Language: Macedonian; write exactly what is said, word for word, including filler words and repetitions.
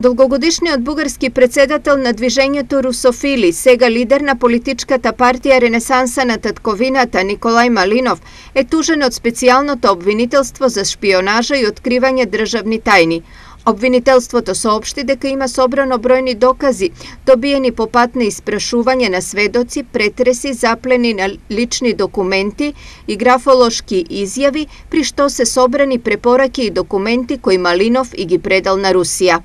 Долгогодишниот бугарски председател на движењето Русофили, сега лидер на политичката партија Ренесанса на татковината Николај Малинов, е тужен од специјалното обвинителство за шпионажа и откривање државни тајни. Обвинителството соопшти дека има собрано бројни докази, добиени по пат на испрашување на сведоци, претреси, заплени на лични документи и графолошки изјави, при што се собрани препораки и документи кои Малинов и ги предал на Русија.